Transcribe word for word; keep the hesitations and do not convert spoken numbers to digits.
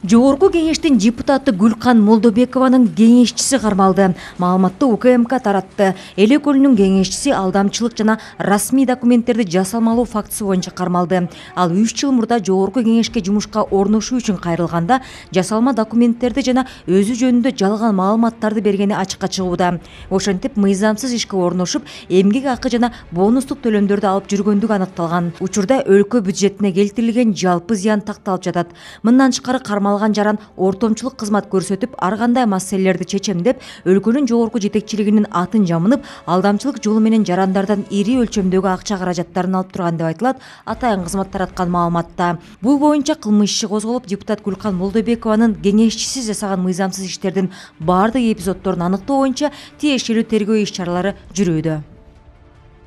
Жогорку кеңештин депутаты Гүлкан Молдобекованын кеңешчиси кармалды. Маалыматты У К М К таратты. Эле көлүнүн кеңешчиси алдамчылык жана расмий документтерди жасалмалоо фактысы боюнча кармалды. Ал үч жыл мурда жогорку кеңешке жумушка орношуу үчүн кайрылганда жасалма документтерди жана өзү жөнүндө жалган маалыматтарды бергени ачыкка чыгууда. Ошентип мыйзамсыз ишке орношуп, эмгек акы жана бонустук төлөмдөрдү алып жүргөндүгү аныкталган. Учурда өлкө бюджетине келтирилген жалпы зыян такталып жатат. Мындан тышкары кармалган жаран ортомчулук кызмат көрсөтүп, ар кандай маселелерди чечемдеп, өлкөнүн жогорку жетекчилигинин атын жамынып, алдамчылык жолу менен жарандардан ири өлчөмдөгү акча каражаттарын алып турган деп айтылат атайын кызмат тараткан маалыматта. Бул боюнча кылмыш иши козголуп, депутат Гүлкан Молдобекованын кеңешчиси жасаган мыйзамсыз иштердин баардык эпизоддорун аныктоо боюнча тиешелүү тергөө иш чаралары жүрүүдө.